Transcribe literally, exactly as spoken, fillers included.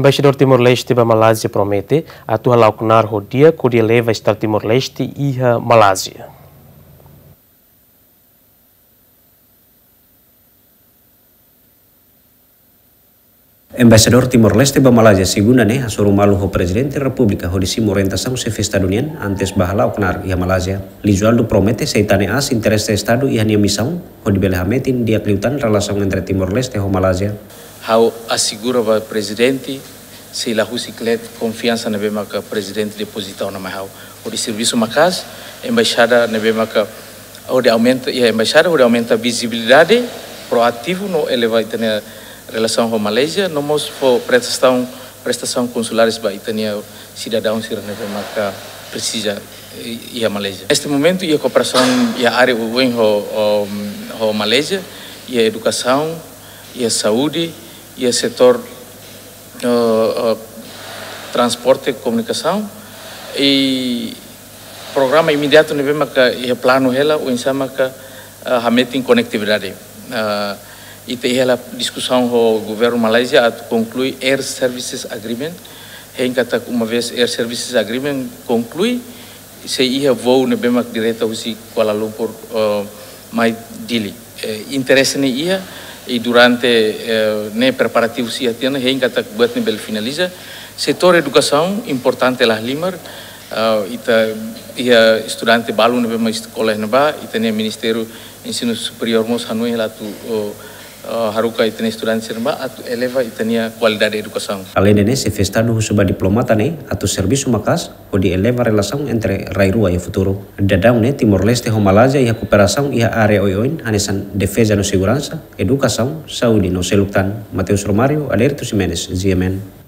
Embaixadór Timor-Leste ba Malázia promete atu hala'o knaar ho di'ak hodi eleva Estadu Timor-Leste iha Malázia. Embaixadór Timor-Leste ba Malázia, segunda ne'e, hasoru malu ho Prezidente Repúblika hodi simu orientasaun Xefe Estadu nian antes ba hala'o knaar iha Malázia. Lizualdo promete sei tane aas interese Estadu iha nia misaun hodi bele hametin di'ak liután relasaun entre Timor-Leste ho Malázia. Ha'u asegura ba Prezidente, sei la husik leet konfiansa ne'ebé maka Prezidente depozita ona mai ha'u. Hodi servisu maka'as, embaixada ne'ebé maka hodi aumenta, iha embaixada hodi aumenta vizibilidade, proativu no eleva ita-nia relasaun ho Malázia, no mós fó prestasaun, prestasaun konsulares ba ita-nia sidadaun sira ne'ebé maka presiza i-, iha Malázia. Neste momentu, iha kooperasaun iha área oioin ho, ho, ho Malázia, iha edukasaun, iha saúde, iha setór, eh, eh, transporte, komunikasaun, i programa imediatu ne'ebé maka iha planu hela, oinsá maka, eh, hametin konetividade. Eh, ita iha hela diskusaun ho governu Malázia atu konklui Air Services Agreement. Hein katak uma vez Air Services Agreement konklui, sei iha voo ne'ebé mak direta husi Kuala Lumpur, eh, mai Dili. Eh, interese ne'e iha, i durante, eh, ne'e preparativu sei iha tiha ona, hein katak buat ne'e bele finaliza. Setór edukasaun importante la halimar, eh, ita iha estudante balu ne'ebé mak eskola iha ne'ebá, ita-nia Ministériu Ensinu Superiór mós hanoin hela atu, oh, eh, haruka ita-nia estudante sira ne'ebá atu eleva ita-nia kualidade edukasaun. Aleinde ne'e, Xefe Estadu husu ba diplomata ne'e atu servisu maka'as hodi eleva relasaun entre rai rua iha futuru. Daudaun ne'e, Timor-Leste ho Malázia iha kooperasaun iha área oioin, hanesan defeza no seguransa, edukasaun, saúde no seluk tan. Mateus Romário, Adérito Ximenes, G M N.